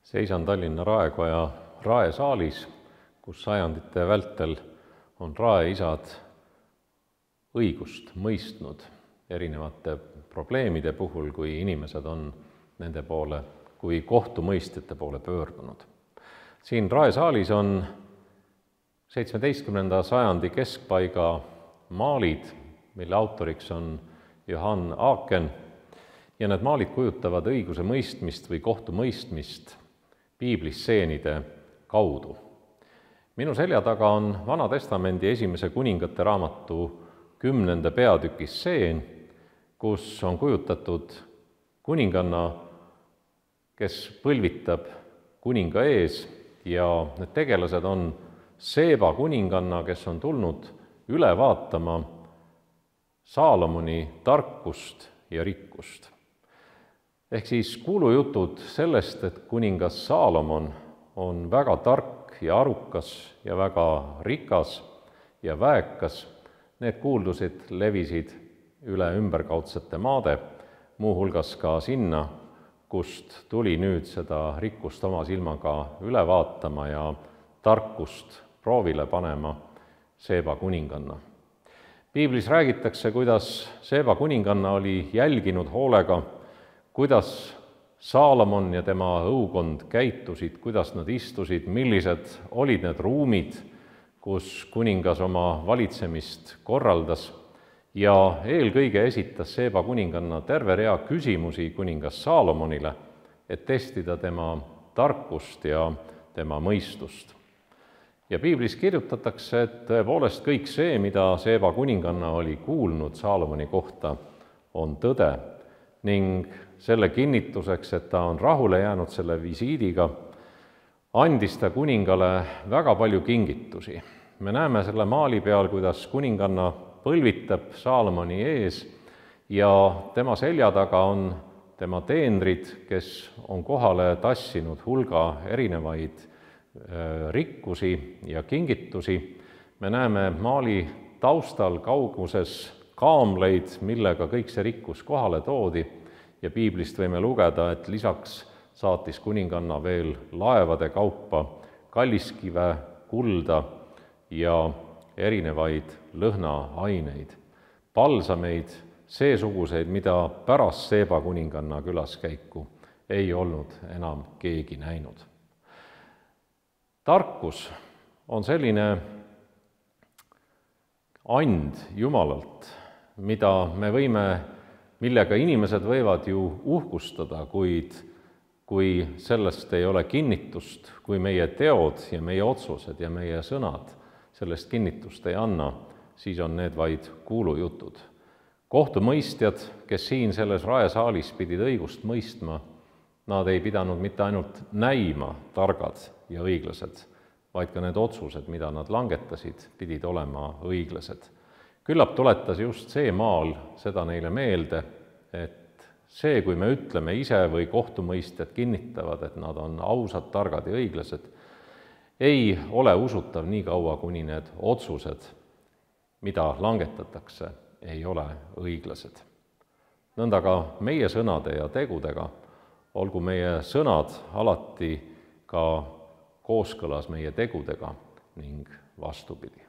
Seisan Tallinna Raekoja raesaalis, kus sajandite vältel on raeisad õigust mõistnud erinevate probleemide puhul, kui inimesed on nende poole, kui kohtumõistjate poole pöördunud. Siin raesaalis on 17. sajandi keskpaiga maalid, mille autoriks on Johann Aaken, ja need maalid kujutavad õiguse mõistmist või kohtumõistmist piiblisseenide kaudu. Minu selja taga on Vana Testamendi esimese kuningate raamatu 10. peatükis stseen, kus on kujutatud kuninganna, kes põlvitab kuninga ees, ja need tegelased on Seeba kuninganna, kes on tulnud üle vaatama Saalomoni tarkust ja rikkust. Ehk siis kuulujutud sellest, et kuningas Saalomon on väga tark ja arukas ja väga rikas ja väekas, need kuuldused levisid üle ümberkaudsete maade, muuhulgas ka sinna, kust tuli nüüd seda rikkust oma silmaga üle vaatama ja tarkust proovile panema Seeba kuninganna. Piiblis räägitakse, kuidas Seeba kuninganna oli jälginud hoolega, kuidas Saalomon ja tema õukond käitusid, kuidas nad istusid, millised olid need ruumid, kus kuningas oma valitsemist korraldas, ja eelkõige esitas Seeba kuninganna terve rea küsimusi kuningas Saalomonile, et testida tema tarkust ja tema mõistust. Ja piiblis kirjutatakse, et tõepoolest kõik see, mida Seeba kuninganna oli kuulnud Saalomoni kohta, on tõde, ning selle kinnituseks, et ta on rahule jäänud selle visiidiga, andis ta kuningale väga palju kingitusi. Me näeme selle maali peal, kuidas kuninganna põlvitab Saalomoni ees ja tema selja taga on tema teenrid, kes on kohale tassinud hulga erinevaid rikkusi ja kingitusi. Me näeme maali taustal kauguses kaamleid, millega kõik see rikkus kohale toodi, ja piiblist võime lugeda, et lisaks saatis kuninganna veel laevade kaupa kalliskive, kulda ja erinevaid lõhnaaineid, palsameid, seesuguseid, mida pärast Seeba kuninganna külaskäiku ei olnud enam keegi näinud. Tarkus on selline and Jumalalt, millega inimesed võivad ju uhkustada, kuid kui sellest ei ole kinnitust, kui meie teod ja meie otsused ja meie sõnad sellest kinnitust ei anna, siis on need vaid kuulujutud. Kohtumõistjad, kes siin selles raesaalis pidid õigust mõistma, nad ei pidanud mitte ainult näima targad ja õiglased, vaid ka need otsused, mida nad langetasid, pidid olema õiglased. Küllap tuletas just see maal seda neile meelde, et see, kui me ütleme ise või kohtumõistjad kinnitavad, et nad on ausad, targad ja õiglased, ei ole usutav nii kaua, kuni need otsused, mida langetatakse, ei ole õiglased. Nõnda ka meie sõnade ja tegudega, olgu meie sõnad alati ka kooskõlas meie tegudega ning vastupidi.